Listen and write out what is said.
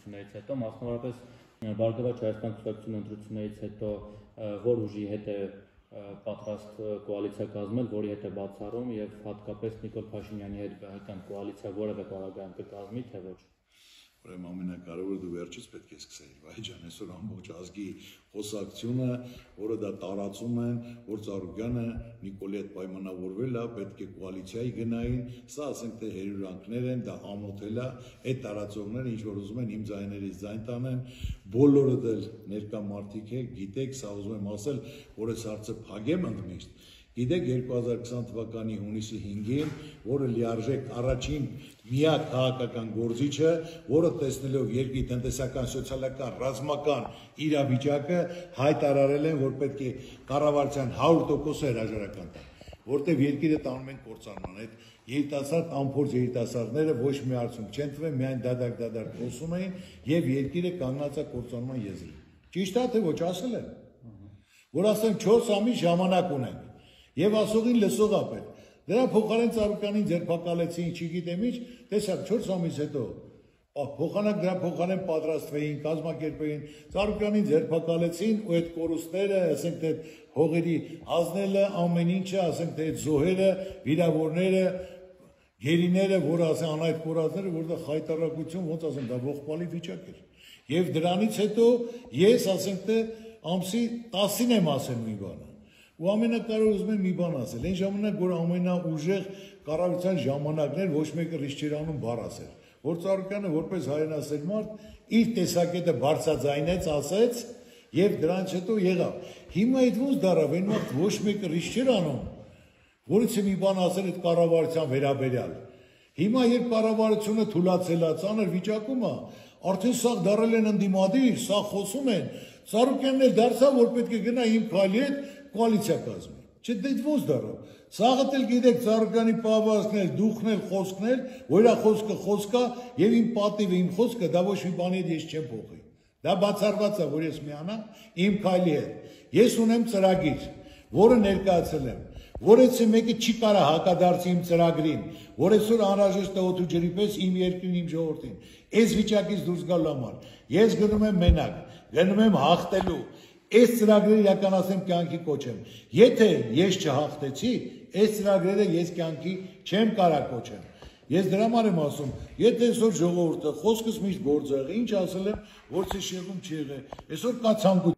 ընտրություններից հետո, մասնավորապես Բարգավաճ Հայաստան կուսակցությունը ընտրություններից հետո որ ուժի հետ է պատրաստ կոալիցիա կազմել, որի հետ է բացառում եւ հատկապես Նիկոլ Փաշինյանի հետ ԲՀԿ-ն կոալիցիա որևէ պարագայում կկազմի, թե ոչ։ Ուրեմն ամենակարևորը դու վերջից պետք է սկսեիր, Վահե ջան, այսօր ամբողջ ազգի խոսակցությունը, որը դա տարածում են, որ Ծառուկյանը Նիկոլի հետ պայմանավորվել է, պետք է կոալիցիայի գնային, սա ասենք թե հերյուրանքներ են, դա ամոթել է, այդ տարածողները ինչ որ ուզում են իմ ձայներից ձայն տանեն, բոլորը դել ներկա մարդիկ եք, գիտեք, սա ուզում եմ ասել, որ այս հարցը փակեմ ընդմիշտ։ Գիտեք 2020 թվականի հունիսի 5-ին, որը լիարժեք առաջին միակ քաղաքական գործիչը, որը տեսնելով երկրի տնտեսական, սոցիալական, ռազմական իրավիճակը հայտարարել են, որ պետք է կառավարության 100% հրաժարական տան, որտեղ երկիրը տանում են կործանման, այդ երիտասարդ անփորձ երիտասարդները ոչ մի արդյունք չեն տվել, միայն դադար խոսում էին եւ երկիրը կանգնած է կործանման եզրին։ Ճիշտ է թե ոչ, ասել են, որ ասեն 4 ամիս ժամանակ ունենք։ Եվ ասողին լսող ապետ, դրա փոխարեն Ծառուկյանին ձերբակալեցին, չգիտեմ ինչ, տեսակ 4 ամիս հետո, փոխանակ դրա փոխարեն պատրաստվեին, կազմակերպեին, Ծառուկյանին ձերբակալեցին ու այդ կորուստները, ասենք թե հողերի հանձնելը, ամեն ինչը, ասենք թե այդ զոհերը, վիրավորները, գերիները, որ ասեն անայդ կորածները, որտեղ խայտարակություն, ոնց ասեմ, դա ողբալի վիճակ էր։ Եվ դրանից հետո ես, ասենք թե ամսի 10-ին եմ ասել մի բանը։ Ու ամենակարևորը ուզում եմ մի բան ասել, այն ժամանակ, որ ամենաուժեղ կառավարության ժամանակներ ոչ մեկը ռիսկ չէր անում բառ ասել, որ Ծառուկյանը որպես հայրենասեր մարդ իր տեսակետը բարձրաձայնեց, ասեց եւ դրանից հետո եղավ։ Հիմա այդ ոնց դարավ, այն վաղ ոչ մեկը ռիսկ չէր անում, որից մի բան ասել այդ կառավարության վերաբերյալ։ Հիմա երբ կառավարությունը թուլացել է, ծանր վիճակում է, արդեն սա դարել են ընդդիմադիր, սա խոսում են, Ծառուկյանն էլ դարձավ, որ պետք է գնա իմ քայլի հետ կոալիցիա կազմի։ Չէ, դե ոնց դարավ։ Սաղդ էլ գիտեք Ծառուկյանի պահվածքներ, դուխն էլ խոսքն էլ, որ իր խոսքը խոսք է եւ իմ պատիվը, իմ խոսքը դա ոչ մի բանի հետ ես չեմ փոխի։ Դա բացառված է, որ ես միանամ իմ քայլի հետ։ Ես ունեմ ծրագիր, որը ներկայացել եմ, որից մեկը չի կարա հակադարձի իմ ծրագրին, որ այսօր անհրաժեշտ է օդու ջրի պես իմ երկրին, իմ ժողովրդին։ Այս վիճակից դուրս գալու համար ես գնում եմ մենակ, գնում եմ հաղթելու, այս ծրագրերը իրականացնեմ կյանքի կոչեմ։ Եթե ես չհաղթեցի, այս ծրագրերը ես կյանքի չեմ կարա կոչեմ։ Ես դրա համար եմ ասում, եթե այսօր ժողովուրդը խոսքս միշտ գործ եղի, ինչ ասել եմ, որ ցեշեղում չի եղել, այսօր կա ցանկություն